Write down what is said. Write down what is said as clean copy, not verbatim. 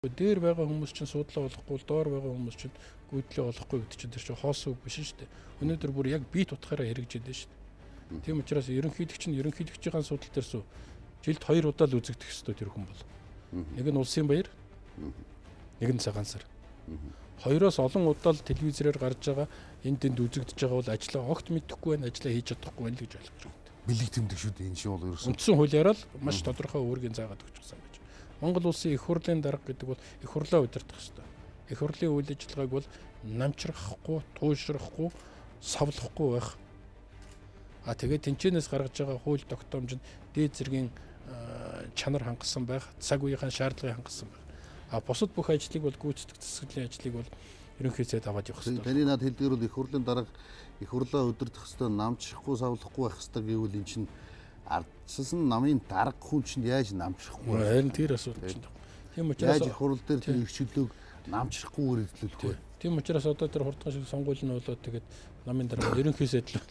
Дээр байгаа хүмүүс чинь суудлаа болохгүй, доор байгаа хүмүүс чинь гүйдлээ болохгүй гэдэг чинь тэр чинь хоос үг биш шүү дээ. Өнөөдөр бүр яг бие тутахаараа хэрэгжээд байна шүү дээ. Тийм учраас ерөнхийлөгчийн судал дээрс жилд 2 удаа л үзэгдэх ёстой тэр хүн бол. Нэг нь улсын баяр, нэг нь цагаан сар. Хоёроос олон удаа л телевизээр гарч байгаа энд тэнд үзэгдэж байгаа бол ажлаа огт мэдэхгүй байна, ажлаа хийж чадахгүй байна л гэж ойлгож байна. Бэлэг тэмдэг шүү дээ энэ шиг бол ерөөсөн. Үндсэн хуулиараа л маш тодорхой үүргийн заагаад өгчихсан гэж. Монгол улсын их хурлын дарга гэдэг бол их хурлаа удирдах ёстой. Их хурлын үйл ажиллагааг бол намчрахгүй, туушрахгүй, савлахгүй байх. Тэгээд тэнцэнээс гаргаж байгаа хууль тогтоомж нь дээд зэргийн чанар хангасан байх, цаг үеийн шаардлагыг хангасан байх. Бусад бүх ажлыг бол гүйцэтгэх засаглалын ажлыг бол ерөнхий сайд аваад явах ёстой. Таны над хэлдгээр бол их хурлын дарга их хурлаа удирдах ёстой, намчрахгүй, савлахгүй байх ёстой гэвэл эн чинь ардчилсан намын дарга хүн чинь яаж намчрахгүй вэ? Харин тэр асуудал чинь. Тийм учраас яаж их хурл дээр тэр их чөлөөг намчрахгүйгээр эзлүүлэх вэ? Тийм учраас одоо тэр хурдхан шиг сонгуул нь болоод тэгээд намын дарга ерөнхий сайд л